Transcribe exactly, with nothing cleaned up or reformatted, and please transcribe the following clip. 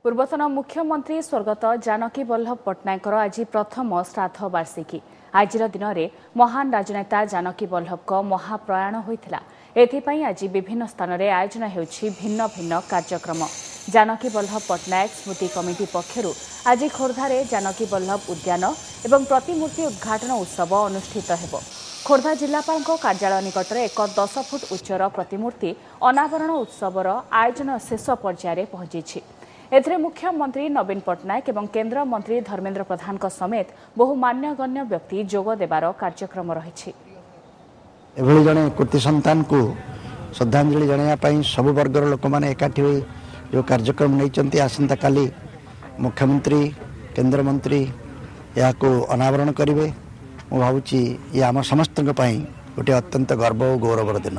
ପୂର୍ବତନ ମୁଖ୍ୟମନ୍ତ୍ରୀ ସ୍ୱର୍ଗତ ଜାନକୀ ବଲ୍ଲଭ ପଟ୍ଟନାୟକଙ୍କର ଆଜି ପ୍ରଥମ ଶ୍ରାଦ୍ଧ ବାର୍ଷିକୀ। ଆଜିର ଦିନରେ ମହାନ ରାଜନେତା ଜାନକୀ ବଲ୍ଲଭଙ୍କ ମହାପ୍ରୟାଣ ହୋଇଥିଲା। ଏଥିପାଇଁ ଆଜି ବିଭିନ୍ନ ସ୍ଥାନରେ ଆୟୋଜନ ହେଉଛି ଭିନ୍ନ ଭିନ୍ନ କାର୍ଯ୍ୟକ୍ରମ। ଜାନକୀ ବଲ୍ଲଭ ପଟ୍ଟନାୟକ ସ୍ମୃତି କମିଟି ପକ୍ଷରୁ ଆଜି ଖୋର୍ଦ୍ଧାରେ ଜାନକୀ ବଲ୍ଲଭ ଉଦ୍ୟାନ ଏବଂ ପ୍ରତିମୂର୍ତ୍ତି ଉଦ୍ଘାଟନ ଉତ୍ସବ ଅନୁଷ୍ଠିତ ହେବ। ଖୋର୍ଦ୍ଧା ଜିଲ୍ଲାପାଳଙ୍କ କାର୍ଯ୍ୟାଳୟ ନିକଟରେ ଏକ ଦଶ ଫୁଟ ଉଚ୍ଚର ପ୍ରତିମୂର୍ତ୍ତି ଅନାବରଣ ଉତ୍ସବର ଆୟୋଜନ ଶେଷ ପର୍ଯ୍ୟାୟରେ ପହଞ୍ଚିଛି। ଏଥିରେ ମୁଖ୍ୟମନ୍ତ୍ରୀ ନବୀନ ପଟ୍ଟନାୟକ ଏବଂ କେନ୍ଦ୍ର ମନ୍ତ୍ରୀ ଧର୍ମେନ୍ଦ୍ର ପ୍ରଧାନଙ୍କ ସମେତ ବହୁ ମାନ୍ୟଗଣ୍ୟ ବ୍ୟକ୍ତି ଯୋଗ ଦେବାର କାର୍ଯ୍ୟକ୍ରମ ରହିଛି। ଏଭଳି ଜଣେ କୃତି ସନ୍ତାନକୁ ଶ୍ରଦ୍ଧାଞ୍ଜଳି ଜଣାଇବା ପାଇଁ ସବୁ ବର୍ଗର ଲୋକମାନେ ଏକାଠି ହୋଇ ଯେଉଁ କାର୍ଯ୍ୟକ୍ରମ ନେଇଛନ୍ତି, ଆସନ୍ତାକାଲି ମୁଖ୍ୟମନ୍ତ୍ରୀ, କେନ୍ଦ୍ରମନ୍ତ୍ରୀ ଏହାକୁ ଅନାବରଣ କରିବେ। ମୁଁ ଭାବୁଛି ଇଏ ଆମ ସମସ୍ତଙ୍କ ପାଇଁ ଗୋଟିଏ ଅତ୍ୟନ୍ତ ଗର୍ବ ଓ ଗୌରବର ଦିନ।